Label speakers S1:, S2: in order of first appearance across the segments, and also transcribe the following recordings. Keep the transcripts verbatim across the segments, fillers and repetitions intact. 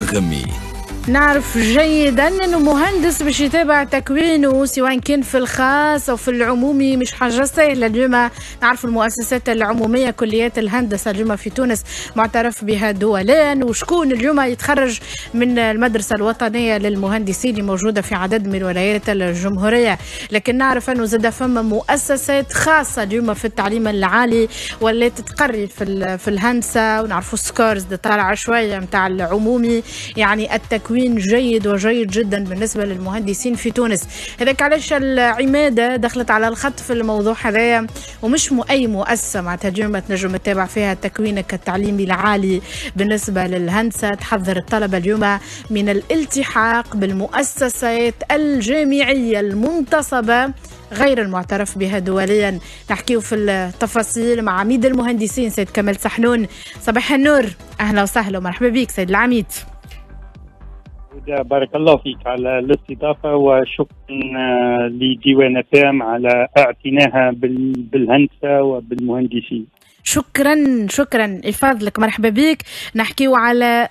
S1: الدغمي.
S2: نعرف جيدا انه مهندس باش يتابع تكوينه سواء كان في الخاص او في العمومي مش حاجة سهلة. اليوم نعرف المؤسسات العمومية كليات الهندسة اليوم في تونس معترف بها دوليا، وشكون اليوم يتخرج من المدرسة الوطنية للمهندسين اللي موجودة في عدد من ولايات الجمهورية. لكن نعرف انه زاد فما مؤسسات خاصة اليوم في التعليم العالي ولات تقري في في الهندسة، ونعرفوا ال scores طالعه شوية نتاع العمومي، يعني التكوين جيد وجيد جدا بالنسبة للمهندسين في تونس. هذاك علاش العمادة دخلت على الخط في الموضوع هذايا، ومش أي مؤسسة معناتها اليوم تنجم تتابع فيها تكوينك التعليمي العالي بالنسبة للهندسة. تحذر الطلبة اليوم من الالتحاق بالمؤسسات الجامعية المنتصبة غير المعترف بها دوليا. نحكيو في التفاصيل مع عميد المهندسين سيد كمال سحنون. صباح النور، أهلا وسهلا ومرحبا بك سيد العميد.
S3: بارك الله فيك على الاستضافة، وشكرا لديوان فام على اعتناها بالهندسة وبالمهندسين.
S2: شكرا شكرا يفضلك، مرحبا بك. نحكيو على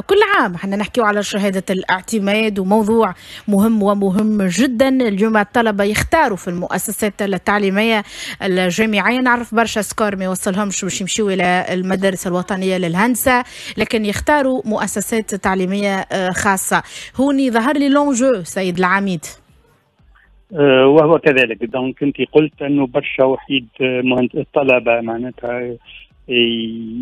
S2: كل عام احنا نحكيو على شهادة الاعتماد، وموضوع مهم ومهم جدا. اليوم الطلبة يختاروا في المؤسسات التعليمية الجامعية، نعرف برشا score ما يوصلهمش باش يمشيو إلى المدارس الوطنية للهندسة، لكن يختاروا مؤسسات تعليمية خاصة. هوني ظهر لي l'enjeu سيد العميد.
S3: وهو كذلك. donc انت قلت انه برشا وحيد مهندس الطلبة معناتها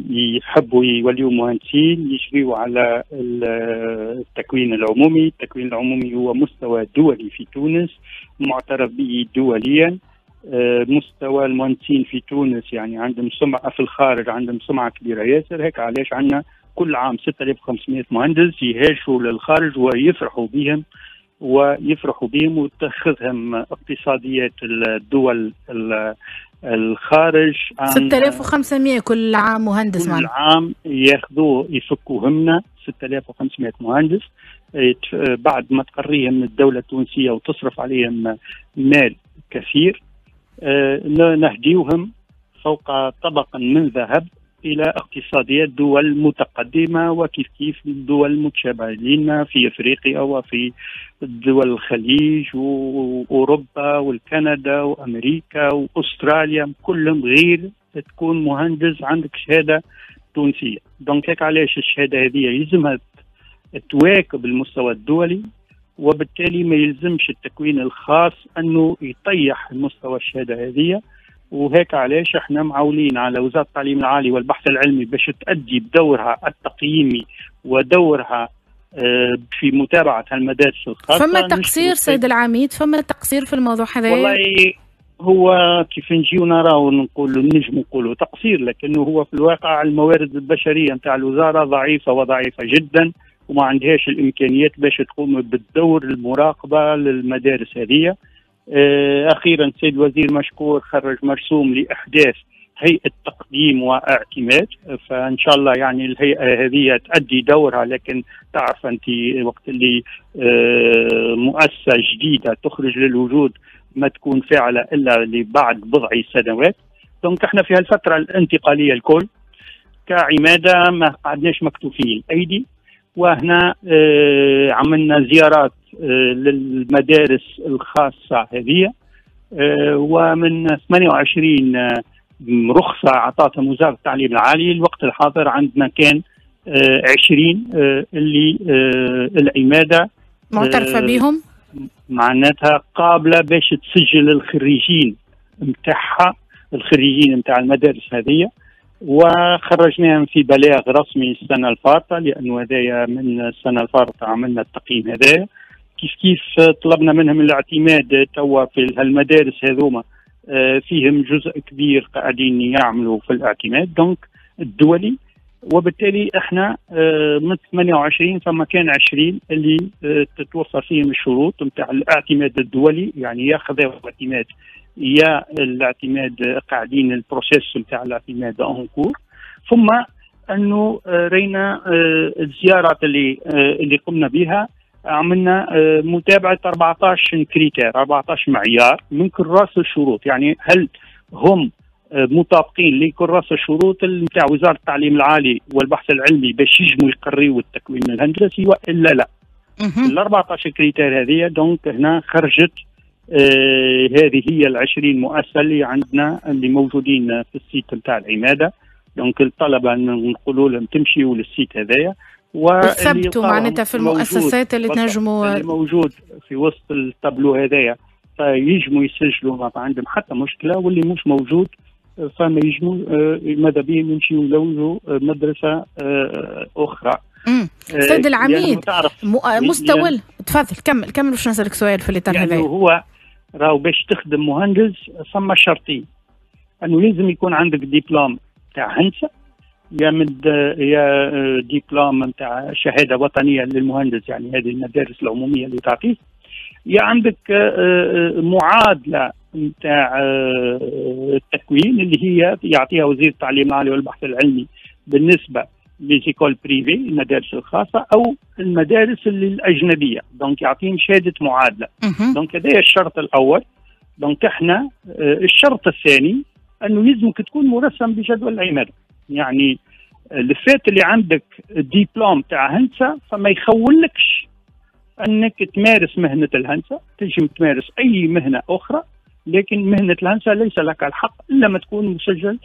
S3: يحبوا يوليوا مهندسين، يجريوا على التكوين العمومي. التكوين العمومي هو مستوى دولي في تونس معترف به دوليا. مستوى المهندسين في تونس يعني عندهم سمعه في الخارج، عندهم سمعه كبيرة ياسر. هيك علاش عندنا كل عام ستة آلاف وخمسمئة مهندس يهاجروا للخارج ويفرحوا بهم ويفرحوا بهم وتاخذهم اقتصاديات الدول الخارج.
S2: ستة آلاف وخمسمئة كل عام مهندس،
S3: كل عام ياخذوه يفكوهمنا ستة آلاف وخمسمئة مهندس بعد ما تقريهم الدولة التونسية وتصرف عليهم مال كثير، نهديوهم فوق طبق من ذهب إلى اقتصاديات دول متقدمة، وكيف كيف الدول المتشابهة لنا في أفريقيا وفي دول الخليج وأوروبا والكندا وأمريكا وأستراليا، كلهم غير تكون مهندس عندك شهادة تونسية. donc هيك علاش الشهادة هذه يلزمها تواكب المستوى الدولي، وبالتالي ما يلزمش التكوين الخاص أنه يطيح المستوى الشهادة هذه. وهيك علاش احنا معولين على وزارة التعليم العالي والبحث العلمي باش تؤدي بدورها التقييمي ودورها في متابعة المدارس الخاصة.
S2: فما تقصير سيد العميد، فما تقصير في الموضوع هذا؟
S3: والله هو كيف نجيو نراو نقولوا نجم نقولوا تقصير، لكنه هو في الواقع الموارد البشرية نتاع الوزارة ضعيفة وضعيفة جدا، وما عندهاش الإمكانيات باش تقوم بالدور المراقبة للمدارس هذه. أخيرا السيد الوزير مشكور خرج مرسوم لإحداث هيئة تقديم واعتماد، فإن شاء الله يعني الهيئة هذه تؤدي دورها. لكن تعرف أنت وقت اللي مؤسسة جديدة تخرج للوجود ما تكون فاعلة إلا لبعد بضع سنوات. donc احنا في هالفترة الانتقالية الكل كعمادة ما قعدناش مكتوفين الأيدي، وهنا عملنا زيارات للمدارس الخاصة هذه، ومن ثمانية وعشرين رخصة أعطتهم وزارة التعليم العالي الوقت الحاضر عندنا كان عشرين اللي العمادة
S2: معترفة بهم،
S3: معناتها قابلة باش تسجل الخريجين نتاعها، الخريجين نتاع المدارس هذه. وخرجناهم في بلاغ رسمي السنة الفارطة، لأنه هذايا من السنة الفارطة عملنا التقييم هذايا. كيف كيف طلبنا منهم الاعتماد توا في المدارس هذوما فيهم جزء كبير قاعدين يعملوا في الاعتماد donc الدولي، وبالتالي احنا من ثمانية وعشرين فما كان عشرين اللي تتوفر فيهم الشروط نتاع الاعتماد الدولي، يعني يا خذاو اعتماد يا الاعتماد قاعدين ال processus نتاع الاعتماد en cours. ثم انه رينا الزيارات اللي اللي قمنا بها، عملنا متابعه أربعة عشر critère، أربعة عشر معيار من كراس الشروط، يعني هل هم مطابقين لكراس الشروط نتاع وزارة التعليم العالي والبحث العلمي باش يجموا يقريوا التكوين الهندسي والا لا. ال أربعطاش critères هذه donc هنا خرجت آه هذه هي العشرين مؤسسة اللي عندنا اللي موجودين في ال site نتاع العماده. donc الطلبة نقولوا لهم تمشيوا لل site هذايا
S2: وثبتوا معناتها في المؤسسات اللي تنجموا
S3: اللي موجود في وسط التابلو هذايا فيجموا يسجلوا ما عندهم حتى مشكلة، واللي مش موجود فما يجموا ماذا بهم يمشيوا يلوجوا مدرسه اخرى.
S2: امم سيد العميد يعني مستوى يعني تفضل كمل كمل باش نسالك سؤال في الاطار
S3: هذا. يعني هو راهو باش تخدم مهندس ثم شرطين، انه لازم يكون عندك دبلوم تاع هندسة يا مد يا دبلوم نتاع شهادة وطنية للمهندس، يعني هذه المدارس العمومية اللي تعطيه، يا عندك معادلة نتاع التكوين اللي هي يعطيها وزير التعليم العالي والبحث العلمي بالنسبة les écoles privées المدارس الخاصة او المدارس الاجنبية، donc يعطيهم شهادة معادلة. donc هذا الشرط الاول. donc احنا الشرط الثاني انه لازمك تكون مرسم بجدول العماده، يعني le fait اللي عندك ديبلوم تاع هندسة فما يخولكش انك تمارس مهنة الهندسة، تنجم تمارس اي مهنة اخرى لكن مهنة الهندسة ليس لك الحق الا ما تكون مسجل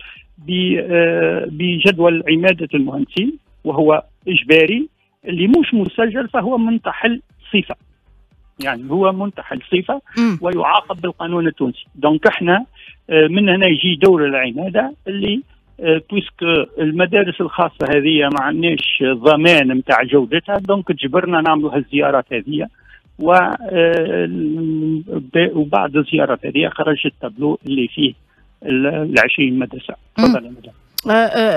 S3: بجدول عماده المهندسين وهو اجباري. اللي مش مسجل فهو منتحل صفة، يعني هو منتحل صفة ويعاقب بالقانون التونسي. donc احنا من هنا يجي دور العماده اللي puisque المدارس الخاصة هذه ما عندناش ضمان نتاع جودتها، donc تجبرنا نعملوا هالزيارات هذه، وبعد الزيارات هذه خرج التابلو اللي فيه العشرين مدرسه. تفضل يا مدام.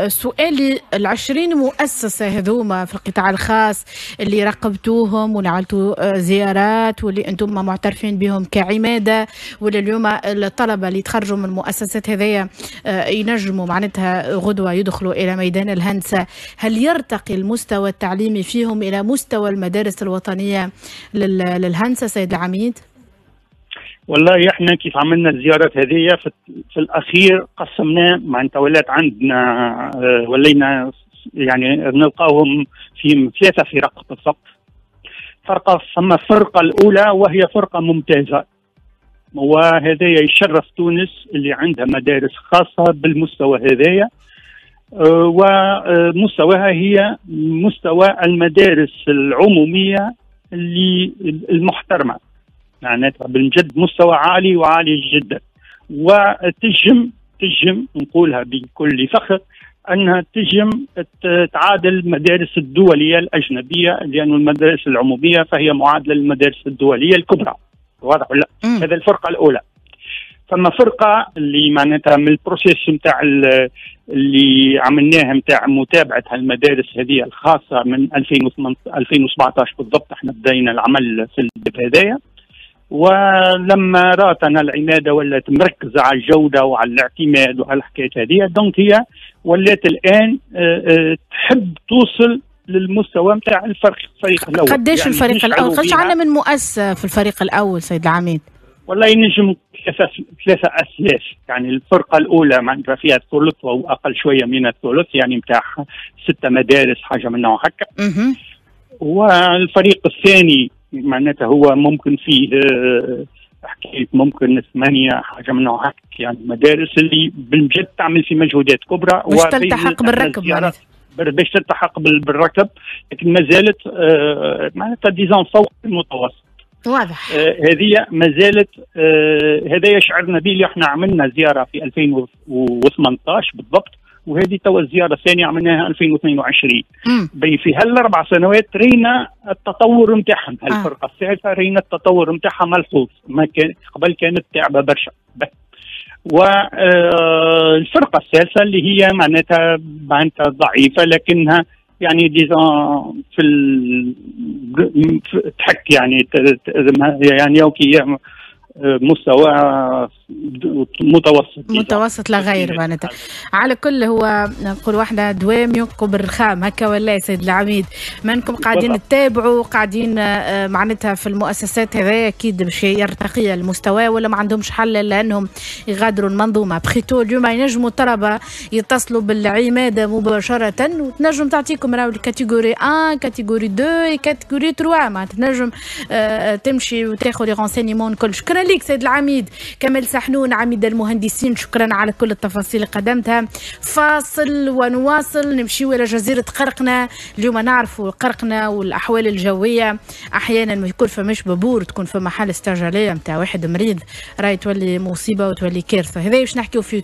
S2: سؤالي، العشرين مؤسسة هذوما في القطاع الخاص اللي راقبتوهم ونعملتوا زيارات واللي انتم معترفين بهم كعمادة، ولا اليوم الطلبة اللي تخرجوا من المؤسسات هذيا ينجموا معناتها غدوة يدخلوا إلى ميدان الهندسة، هل يرتقي المستوى التعليمي فيهم إلى مستوى المدارس الوطنية للهندسة سيد العميد؟
S3: والله احنا كيف عملنا الزيارات هذه في, في الاخير قسمنا، معناتها ولات عندنا ولينا يعني نلقاوهم في ثلاثة فرق بالضبط. فرقه، ثم الفرقة الاولى وهي فرقه ممتازة، وهذا يشرف تونس اللي عندها مدارس خاصة بالمستوى هذايا، ومستواها هي مستوى المدارس العمومية اللي المحترمة، معناتها بالجد مستوى عالي وعالي جدا، وتجم تجم نقولها بكل فخر انها تجم تعادل المدارس الدولية الاجنبية، لأن المدارس العمومية فهي معادلة للمدارس الدولية الكبرى. واضح ولا؟ هذا الفرقة الاولى. فما فرقه اللي معناتها من ال processus نتاع اللي عملناها نتاع متابعه هالمدارس هذه الخاصة من ألفين وسبعطاش بالضبط، احنا بدينا العمل في الباب هذايا، ولما راتنا العماده ولات مركزه على الجودة وعلى الاعتماد وعلى الحكايات هذه، donc هي ولات الان تحب توصل للمستوى نتاع الفريق الفريق الاول.
S2: قداش يعني الفريق الاول؟ قداش عندنا من مؤسسة في الفريق الاول سيد العميد؟
S3: والله ينجم ثلاثة ثلاثة اثلاث، يعني الفرقة الاولى معناتها فيها الثلث او اقل شوية من الثلث، يعني نتاع ستة مدارس حاجة من نوع هكا. والفريق الثاني معناتها هو ممكن فيه حكاية ممكن ثمانية حاجة من نوع هكا، يعني مدارس اللي بالجد تعمل في مجهودات كبرى
S2: باش تلتحق بالركب، معناتها
S3: باش تلتحق بالركب، لكن ما زالت معناتها disons فوق المتوسط.
S2: واضح.
S3: هذه ما زالت، هذا يشعرنا به اللي احنا عملنا زيارة في ألفين وثمنطاش بالضبط، وهذه توا الزيارة الثانية عملناها ألفين واثنين وعشرين. في هالاربع سنوات رينا التطور نتاعهم، هالفرقه الثالثة رينا التطور نتاعها ملحوظ، ما كان قبل كانت تعبه برشا. والفرقة الثالثة اللي هي معناتها معناتها ضعيفة، لكنها يعني disons في ال... تحك يعني يعني okay مستوى متوسط.
S2: متوسط لا غير معناتها. على كل هو نقول واحدة دوام ينقب الرخام هكا ولا يا سيد العميد؟ منكم قاعدين تتابعوا، قاعدين معناتها في المؤسسات هذا اكيد باش يرتقي المستوى، ولا ما عندهمش حل لانهم يغادروا المنظومة. après tout اليوم ينجموا الطلبة يتصلوا بالعماده مباشرة وتنجم تعطيكم راهو ال catégorie واحد، catégorie اثنين، catégorie ثلاثة، معناتها تنجم تمشي وتاخذ les renseignements الكل. شكرا لك سيد العميد كمال سحنون عميد المهندسين، شكرا على كل التفاصيل اللي قدمتها. فاصل ونواصل، نمشيو الى جزيرة قرقنة. اليوم نعرفوا قرقنة والاحوال الجوية، احيانا ما يكون فماش بابور، تكون فما حاله استعجاليه نتاع واحد مريض، راهي تولي مصيبة وتولي كارثة. هذا باش نحكيو فيه.